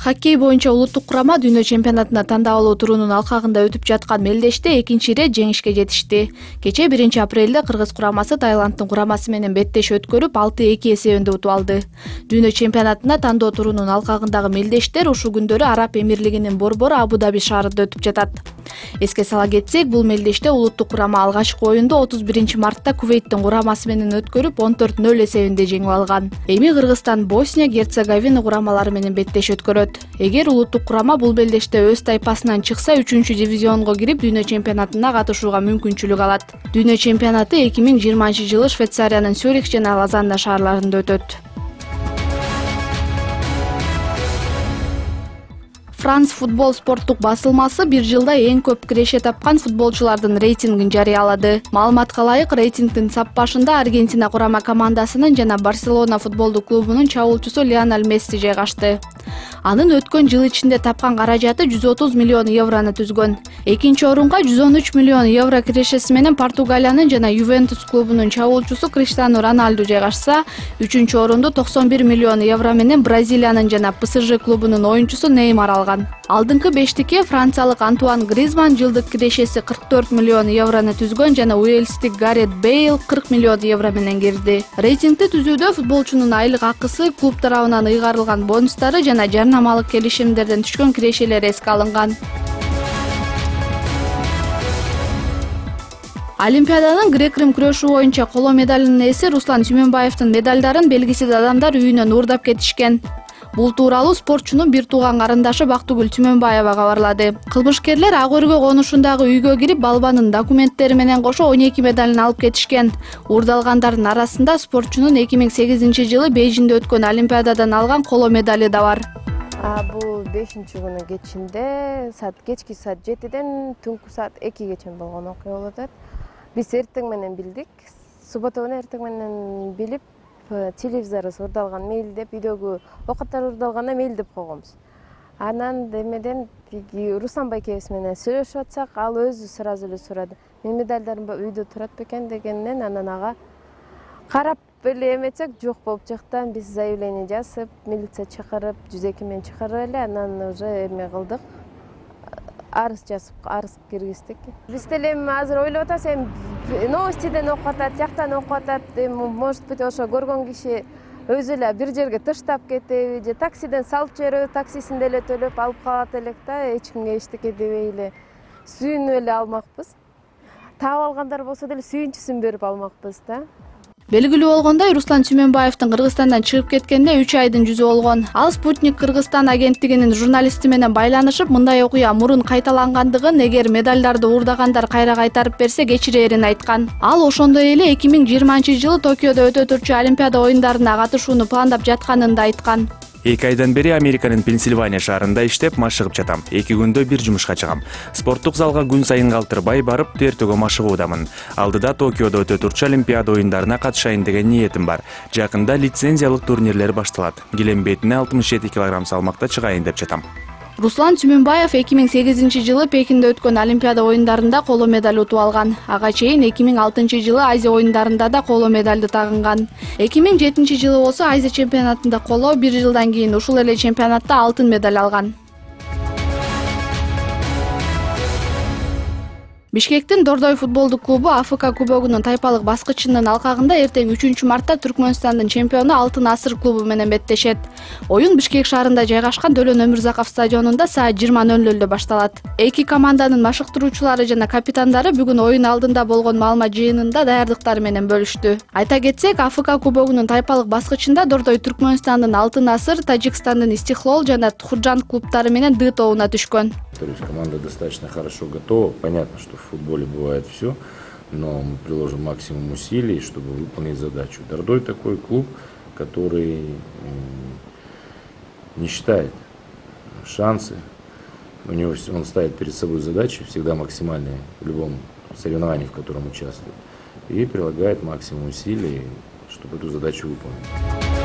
Хоккей боюнча улуттук курама дүйнө чемпионатына тандап алуу турунун алкагында өтүп жаткан мелдеште экинчи ирет жеңишке жетишти. Кече 1 апрелде Кыргыз курамасы Таиланддын курамасы менен беттеш өткөрүп 6-2 эсебинде утуп алды. Дүйнө чемпионатына тандоо турунун алкагындагы мелдештер ушул күндөрү Араб Эмирлигинин борбору Абу-Даби шаарында өтүп жатат. Эске сала кетсек, бул мелдеште улуттук курама алгачкы оюнду 31 мартта Кувейттин курамасы менен өткөрүп 14-0 эсебинде жеңип алган. Эми Кыргызстан Босния Герцеговина курамалары менен беттеш өткөрөт. Эгер улуттук курама бул белдеште өз тайпасынан чыкса, 3-дивизионго кирип дүйнө чемпионатына катышууга мүмкүнчүлүк алат. Дүйнө чемпионаты 2020-жылы Швейцариянын Цюрих жана Лозанна шаарларында өтөт. Франс футбол спорттук басылмасы бир жылда эң көп киреше тапкан футболчулардын рейтингин жарыялады. Маалыматка ылайык, рейтингдин сап башында Аргентина курама командасынын жана Барселона футболдук клубунун чабуулчусу Лионель Месси жайгашты. Анын өткөн жыл ичинде тапкан каражаты 130 миллион еврону түзгөн. Экинчи орунга 113 миллион евро кирешеси менен Португалиянын жана Ювентус клубунун чабуулчусу Криштиану Роналду жайгашса, үчүнчү орунду 91 миллион евро менен Бразилиянын жана ПСЖ клубунун оюнчусу Неймар алган. Алдыңкы бештикке франциялык Антуан Гризман жылдык кирешеси 44 миллион еврону түзгөн жана уэльстик Гарет Бейл 40 миллион евро менен кирди. Рейтингди түзүүдө футболчунун айлык акысы, клуб тарабынан ыйгарылган бонустары жана жарнамалык келишимдерден түшкөн кирешелер эске алынган. Олимпиаданын грек-рим күрөшүү боюнча коло медалынын ээси Руслан Сүймөнбаевдин медалдарын белгисиз адамдар үйүнөн уурдап кетишкен. Бул тууралуу спортчунун бир тууган карындашы Бактыгүл Сүймөнбаева кабарлады. Кылмышкерлер Ак өргө конушундагы үйгө кирип, балбанын документтери менен кошо 12 медалын алып кетишкен. Уурдалгандардын арасында спортчунун 2008-жылы Бейжиңде өткөн Олимпиададан алган коло медали да бар. Бул 5-күнүн кечинде кечки саат 7ден түнкү саат 2гече болгон окуя болуп атат. Биз эртең менен билдик. Суббота күнү эртең менен билип, телевизорубуз урдалган мейлдеп, үйдөгү оокаттар урдалганда мейлдеп койгонбуз. Анан демеден Руслан байкебиз менен сүйлөшүп атсак, ал өзү сразу эле сурады. Мен медальдарым үйдө турат бекен дегеннен, анан ага карап эле эметсек, жок болуп жактан биз заявление жазып, милиция чакырып, 102 менен чакырып эле, анан уже эме кылдык. Арыз жазып, арыз киргиздик. Биз деле эми азыр ойлоп атабыз, эми новостиден окуп атат, жактан окуп атат, может быть, ошо көргөн киши өзү эле бир жерге тыштап кетеби, же таксиден салып жибереби, таксисин деле төлөп алып калат элек да, эч кимге эчтеке дебей эле сүйүнүп эле алмакпыз. Таап алгандар болсо деле сүйүнчүсүн берип алмакпыз да. Белгилүү болгондой, Руслан Сүймөнбаевдин Кыргызстандан чыгып кеткенине 3 айдын жүзү болгон. Ал Спутник Кыргызстан агенттигинин журналисти менен байланышып, мындай окуя мурун кайталангандыгын, эгер медалдарды уурдагандар кайра кайтарып берсе кечирээрин айткан. Ал ошондой эле 2020-жылы Токиодо өтө турчу Олимпиада оюндарына катышууну пландап жатканын да айткан. 2 айдан бери Американын Пенсильвания шаарында иштеп, машыгып жатам. 2 күндө бир жумушка чыгам. Спорттук залга күн сайын калтырбай барып, тертөгө машыгуудамын. Алдыда Токиодо өтө турчу Олимпиада оюндарына катышайын деген ниетим бар. Жакында лицензиялык турнирлер башталат. Келембетине 67 кг салмакта чыгайын деп жатам. Руслан Сүймөнбаев 2008-жылы Пекинде өткөн Олимпиада оюндарында коло медаль утуп алган. Ага чейин 2006-жылы Азия оюндарында да коло медальды тагынган. 2007-жылы болсо Азия чемпионатында коло, бир жылдан кийин ушул эле чемпионатта алтын медаль алган. Бишкектин Дордой футболдук клубу АФК кубогунун тайпалык баскычынын алкагында эртең 3-мартта Түркмөнстандын чемпиону Алтын Асыр клубу менен беттешет. Оюн Бишкек шаарында жайгашкан Дөлөн Өмүрзаков стадионунда саат 20:00 башталат. Эки команданын машыктыруучулары жана капитандары бүгүн оюн алдында болгон маалымат жыйынында даярдыктары менен бөлүштү. Айта кетсек, АФК кубогунун тайпалык баскычында Дордой Түркмөнстандын Алтын Асыр, Тажикстандын Истихлол жана Тхурджан клубтары менен Д тобуна түшкөн. То есть команда достаточно хорошо готова. Понятно, что в футболе бывает все, но мы приложим максимум усилий, чтобы выполнить задачу. Дордой такой клуб, который не считает шансы. Он ставит перед собой задачи всегда максимальные в любом соревновании, в котором участвует, и прилагает максимум усилий, чтобы эту задачу выполнить.